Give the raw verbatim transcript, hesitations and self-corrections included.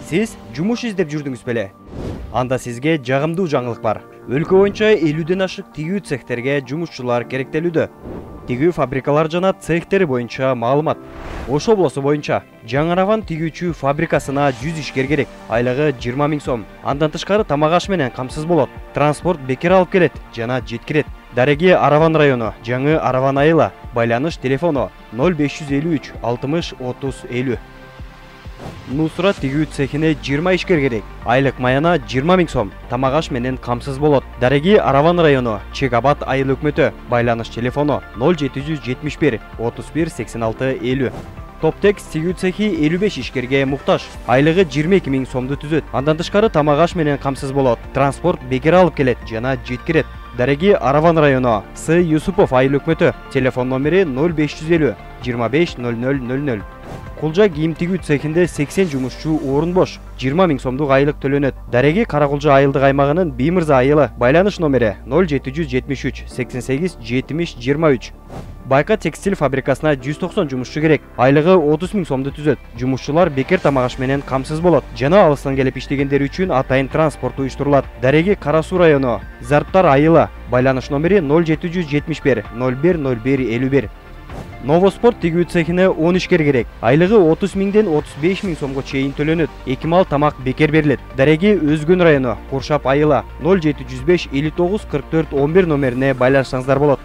Сиз жумуш издеп жүрдүңүз беле? Анда сизге жагымдуу жаңылык бар. Өлкө боюнча элүүдөн ашык тигүү цехтерге жумушчулар керектелүүдө. Тигүү фабрикалар жана цехтери боюнча маалымат. Ош облусу боюнча жаңараван тигүүчү фабрикасына жүз ишкер керек. Айлыгы жыйырма миң сом. Андан тышкары тамак аш менен камсыз болот. Транспорт бекер алып келет жана жеткирет. Дареги Араван району, Жаңы Араван айылы. Байланыш телефону ноль беш жүз элүү үч алтымыш отуз элүү. Нусра тигүү цехине жыйырма ишкер керек. Айлык маяна жыйырма миң сом. Тамак аш менен камсыз болот. Дареги Араван району, Чек-Абад айыл өкмөтү. Байланыш телефону ноль жети жүз жетимиш бир отуз бир сексен алты элүү. Топтекс тигүү цехи элүү беш ишкерге муктаж. Айлыгы жыйырма эки миң сомду түзөт. Андан тышкары тамак аш менен камсыз болот. Транспорт бекер алып келет жана жеткирет. Дареги Араван району, С. Юсупов айыл өкмөтү. Телефон номери ноль беш жүз элүү жыйырма беш ноль ноль ноль ноль. Кулжа кийим тигүү цехинде сексен жумушчу орун бош. жыйырма миң сомдук айлык төлөнөт. Дареги Каракулжа айылдык аймагынын Биймырза айылы. Байланыш номери ноль жети жүз жетимиш үч сексен сегиз жетимиш жыйырма үч. Байка текстиль фабрикасына жүз токсон жумушчу керек. Айлыгы отуз миң сомду түзөт. Жумушчулар бекер тамак аш менен камсыз болот. Жана алыстан келип иштегендер үчүн атайын транспорт уюштурулат. Дареги Кара Суу району, Зарптар айылы. Байланыш номери ноль жети жүз жетимиш бир ноль бир ноль бир элүү бир. Новоспорт тигүү цехине он ишкер керек. Айлыгы отуз миңден отуз беш миң сомго чейин төлөнөт. Эки мал тамак бекер берилет. Дареги Өзгөн району, Куршап айылы. ноль жети жүз беш элүү тогуз кырк төрт он бир номерине байланышсаңыздар болот.